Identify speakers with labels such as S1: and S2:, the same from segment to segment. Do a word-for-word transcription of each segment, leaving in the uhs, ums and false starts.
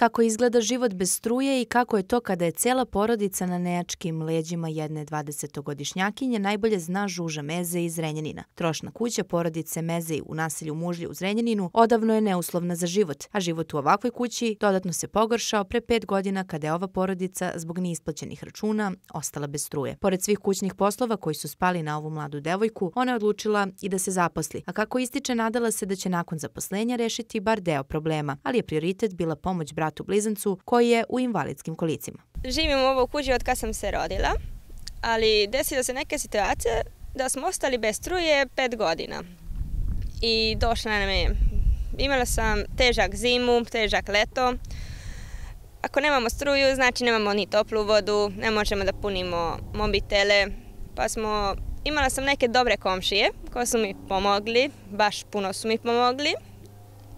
S1: Kako izgleda život bez struje i kako je to kada je cela porodica na nejačkim leđima jedne dvadesetogodišnjakinje najbolje zna Žuža Meze iz Zrenjanina. Trošna kuća porodice Meze u naselju Mužlje u Zrenjaninu odavno je neuslovna za život, a život u ovakvoj kući dodatno se pogoršao pre pet godina kada je ova porodica zbog neisplaćenih računa ostala bez struje. Pored svih kućnih poslova koji su spali na ovu mladu devojku, ona je odlučila i da se zaposli, a kako ističe nadala se da će nakon zaposlenja rešiti bar deo problema, ali je prioritet bila pomoć bratu blizancu koji je u invalidskim kolicima.
S2: Živim u ovoj kući od kad sam se rodila, ali desila se neke situacije da smo ostali bez struje pet godina. I došla nam je, imala sam težak zimu, težak leto. Ako nemamo struju, znači nemamo ni toplu vodu, ne možemo da punimo mobitele, pa smo, imala sam neke dobre komšije koji su mi pomogli, baš puno su mi pomogli.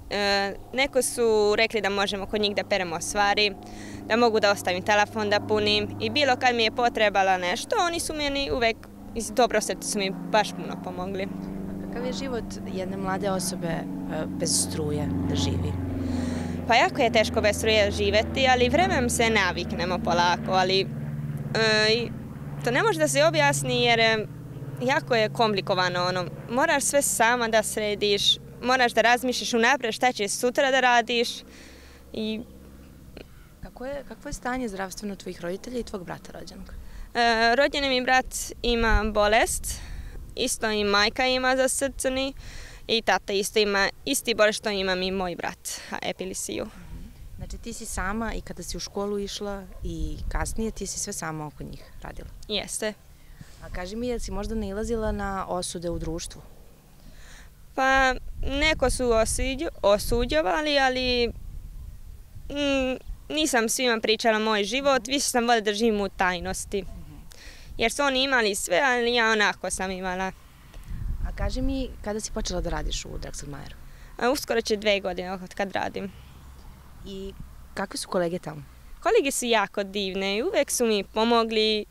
S2: E, neko su rekli da možemo kod njih da peremo stvari, da mogu da ostavim telefon da punim i bilo kad mi je potrebala nešto, oni su meni uvek iz dobro srca su mi baš puno pomogli.
S1: Kakav je život jedne mlade osobe bez struje da živi?
S2: Pa jako je teško bez struje živeti, ali vremenom se naviknemo polako, ali e, to ne može da se objasni jer jako je komplikovano. Ono, moraš sve sama da središ, moraš da razmišljaš unapred šta će sutra da radiš. I...
S1: Kako je, kakvo je stanje zdravstveno tvojih roditelja i tvog brata rođenog?
S2: E, rođeni mi brat ima bolest, isto i majka ima za srcani i tata isto ima isti bolest što imam i moj brat, epilepsiju.
S1: Znači ti si sama i kada si u školu išla i kasnije ti si sve sama oko njih radila?
S2: Jeste.
S1: A kaži mi, jel si možda nailazila na osude u društvu?
S2: Pa neko su osuđovali, ali mm, nisam svima pričala moj život, više sam voljela da živim u tajnosti. Jer su oni imali sve, ali ja onako sam imala.
S1: A kaži mi, kada si počela da radiš u Drexel-Mayeru?
S2: Uskoro će dve godine od kad radim.
S1: I kakve su kolege tamo?
S2: Kolege su jako divne i uvek su mi pomogli,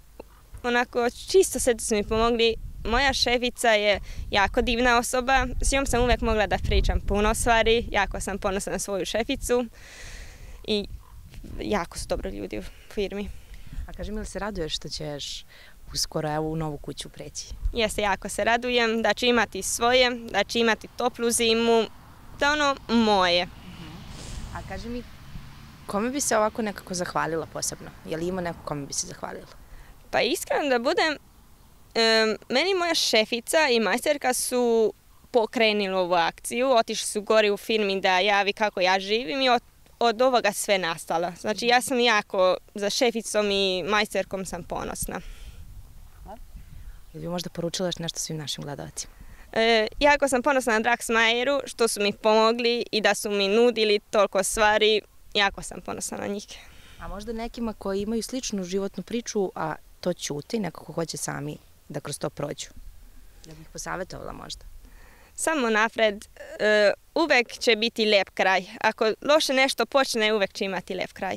S2: onako čisto sve su mi pomogli. Moja šefica je jako divna osoba, s njom sam uvek mogla da pričam puno stvari, jako sam ponosna na svoju šeficu i jako su dobro ljudi u firmi.
S1: A kaži mi, li se raduješ što ćeš uskoro evo u novu kuću preći?
S2: Jeste, jako se radujem da ću imati svoje, da ću imati toplu zimu, da ono moje.
S1: A kaži mi, kome bi se ovako nekako zahvalila posebno? Je li ima neko kome bi se zahvalila?
S2: Pa iskreno da budem, Um, meni moja šefica i majsterka su pokrenuli ovu akciju, otišli su gore u firmi da javi kako ja živim i od, od ovoga sve nastalo. Znači ja sam jako za šeficom i majsterkom sam ponosna.
S1: Ili bi možda poručila još nešto svim našim gledalcima?
S2: E, jako sam ponosna na Drexel-Mayeru što su mi pomogli i da su mi nudili toliko stvari, jako sam ponosna na njih.
S1: A možda nekima koji imaju sličnu životnu priču, a to ćute i nekako hoće sami da kroz to prođu. Da bih posavetovala možda?
S2: Samo napred, uvek će biti lep kraj. Ako loše nešto počne, uvek će imati lep kraj.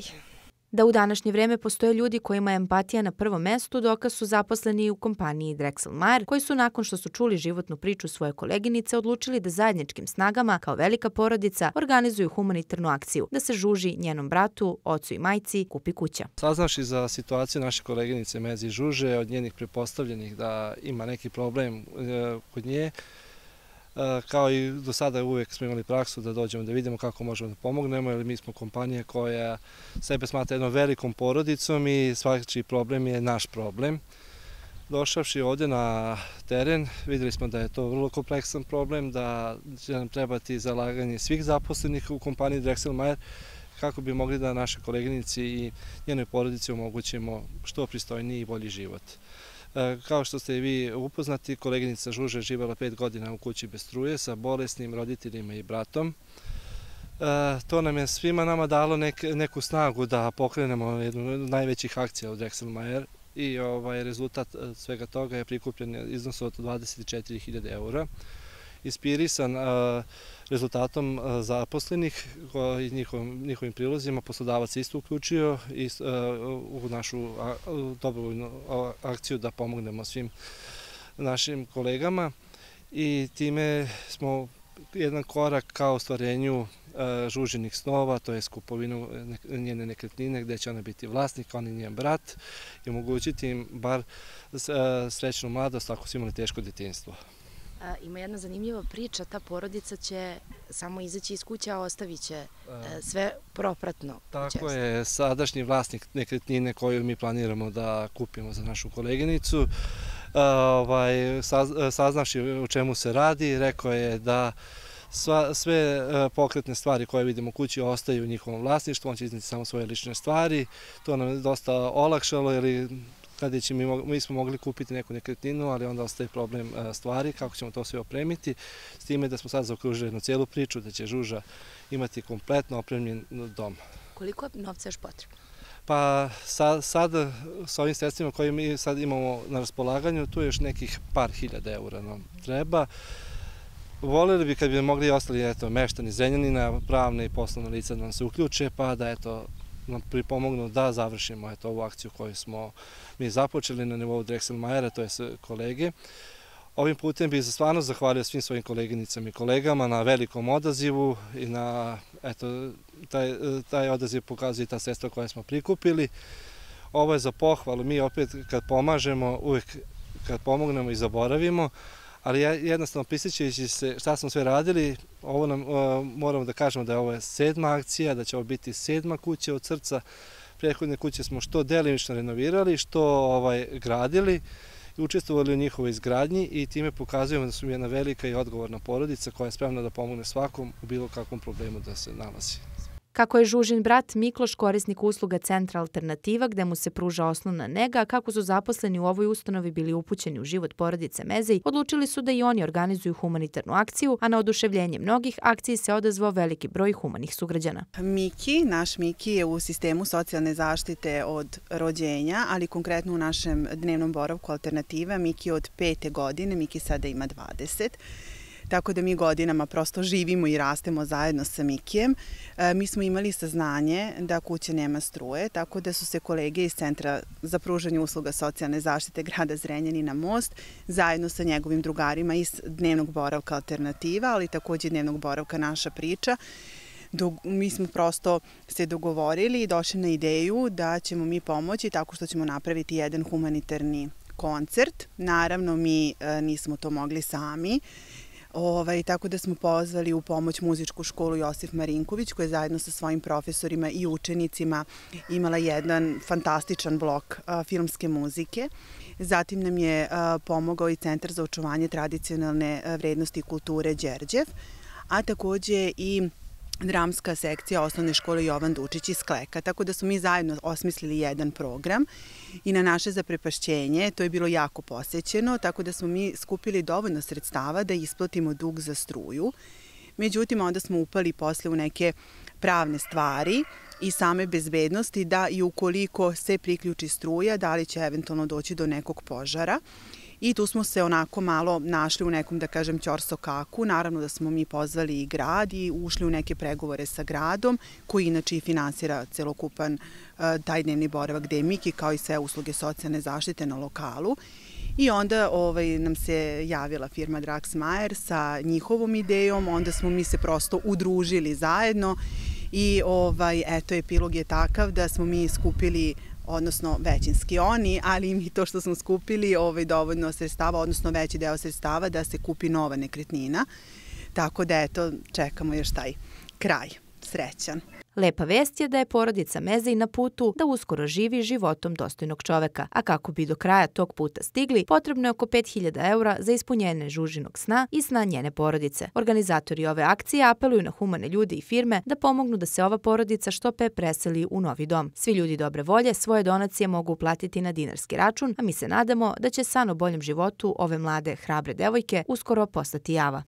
S1: Da u današnje vreme postoje ljudi kojima je empatija na prvom mestu, dokaz su zaposleni u kompaniji Drexel-Mayer, koji su nakon što su čuli životnu priču svoje koleginice odlučili da zajedničkim snagama, kao velika porodica, organizuju humanitarnu akciju, da se Žuži, njenom bratu, ocu i majci, kupi kuća.
S3: Saznavši za situaciju naše koleginice Meze i Žuže, od njenih pretpostavljenih da ima neki problem kod nje, kao i do sada uvijek smo imali praksu da dođemo da vidimo kako možemo da pomognemo, jer mi smo kompanija koja sebe smatra jednom velikom porodicom i svaki problem je naš problem. Došavši ovdje na teren, vidjeli smo da je to vrlo kompleksan problem, da će nam trebati zalaganje svih zaposlenih u kompaniji Drexel-Mayer kako bi mogli da naše koleginici i njenoj porodici omogućimo što pristojniji i bolji život. Kao što ste i vi upoznati, koleginica Žuža je živjela pet godina u kući bez struje sa bolesnim roditeljima i bratom. To nam je svima nama dalo neku snagu da pokrenemo jednu od najvećih akcija u Drexel-Mayer i rezultat svega toga je prikupljen iznos od dvadeset četiri hiljade eura. Inspirisan rezultatom zaposlenih i njihovim prilozima, poslodavac se isto uključio u našu dobrovoljnu akciju da pomognemo svim našim kolegama i time smo jedan korak ka ostvarenju Žužinih snova, to je kupovinu njene nekretnine gdje će ona biti vlasnik, on i njen brat i omogućiti im bar srećnu mladost ako su imali teško djetinjstvo.
S4: Ima jedna zanimljiva priča, ta porodica će samo izaći iz kuće, a ostavit će sve propratno.
S3: Tako je, sadašnji vlasnik nekretnine koju mi planiramo da kupimo za našu koleginicu, saznavši o čemu se radi, rekao je da sve pokretne stvari koje vidimo u kući ostaju u njihovom vlasništvu, on će izneti samo svoje lične stvari. To nam je dosta olakšalo, jer mi smo mogli kupiti neku nekretninu, ali onda ostaje problem stvari, kako ćemo to sve opremiti. S time da smo sad zaokružili jednu cijelu priču, da će Žuža imati kompletno opremljen dom.
S4: Koliko je novca još potrebno?
S3: Pa sad, sa ovim sredstvima koje mi sad imamo na raspolaganju, tu je još nekih par hiljada eura nam treba. Voljeli bi kad bi mogli i ostali meštani Zrenjanina, pravne i poslovne lica da nam se uključe, pa da nam pripomognu da završimo ovu akciju koju smo mi započeli na nivou Drexel-Mayera, to je kolege. Ovim putem bih stvarno zahvalio svim svojim koleginicama i kolegama na velikom odazivu i na taj odaziv pokazuje i ta sredstva koja smo prikupili. Ovo je za pohvalu, mi opet kad pomažemo, uvijek kad pomognemo i zaboravimo, ali jednostavno prisjećajući se šta smo sve radili, ovo nam moramo da kažemo da je ovo sedma akcija, da će ovo biti sedma kuća od srca. Prethodne kuće smo što delimično renovirali, što gradili i učestvovali u njihovoj izgradnji i time pokazujemo da smo jedna velika i odgovorna porodica koja je spremna da pomogne svakom u bilo kakvom problemu da se nalazi.
S1: Kako je Žužin brat Mikloš korisnik usluga Centra Alternativa gde mu se pruža osnovna nega, a kako su zaposleni u ovoj ustanovi bili upućeni u život porodice Mezej, odlučili su da i oni organizuju humanitarnu akciju, a na oduševljenje mnogih akciji se odazvao veliki broj humanih sugrađana.
S5: Miki, naš Miki je u sistemu socijalne zaštite od rođenja, ali konkretno u našem dnevnom boravku Alternativa. Miki od pete godine, Miki sada ima dvadeset. Tako da mi godinama prosto živimo i rastemo zajedno sa Mikijem. Mi smo imali saznanje da kuća nema struje, tako da su se kolege iz Centra za pružanje usluga socijalne zaštite grada Zrenjanina Most zajedno sa njegovim drugarima iz dnevnog boravka Alternativa, ali također dnevnog boravka Naša priča. Mi smo prosto se dogovorili i došli na ideju da ćemo mi pomoći tako što ćemo napraviti jedan humanitarni koncert. Naravno, mi nismo to mogli sami. Tako da smo pozvali u pomoć muzičku školu Josif Marinković koja je zajedno sa svojim profesorima i učenicima imala jedan fantastičan blok filmske muzike. Zatim nam je pomogao i Centar za očuvanje tradicionalne vrednosti i kulture Đerđev, a također i dramska sekcija osnovne škole Jovan Dučić iz Kleka. Tako da smo mi zajedno osmislili jedan program i na naše zaprepašćenje to je bilo jako posećeno, tako da smo mi skupili dovoljno sredstava da isplatimo dug za struju. Međutim, onda smo upali posle u neke pravne stvari i same bezbednosti da i ukoliko se priključi struja, da li će eventualno doći do nekog požara. I tu smo se onako malo našli u nekom, da kažem, ćorsokaku. Naravno da smo mi pozvali i grad i ušli u neke pregovore sa gradom, koji inače i finansira celokupan taj dnevni boravak gde je Miki, kao i sve usluge socijalne zaštite na lokalu. I onda nam se javila firma Drexel-Mayer sa njihovom idejom, onda smo mi se prosto udružili zajedno i eto, epilog je takav da smo mi skupili, odnosno većinski oni, ali mi to što smo skupili dovoljno sredstava, odnosno veći deo sredstava da se kupi nova nekretnina. Tako da eto, čekamo još taj kraj. Srećan.
S1: Lepa vest je da je porodica Mezej na putu da uskoro živi životom dostojnog čoveka, a kako bi do kraja tog puta stigli, potrebno je oko pet hiljada eura za ispunjenje Žužinog sna i sna njene porodice. Organizatori ove akcije apeluju na humane ljude i firme da pomognu da se ova porodica što pre preseli u novi dom. Svi ljudi dobre volje svoje donacije mogu uplatiti na dinarski račun, a mi se nadamo da će san o boljem životu ove mlade, hrabre devojke uskoro postati java.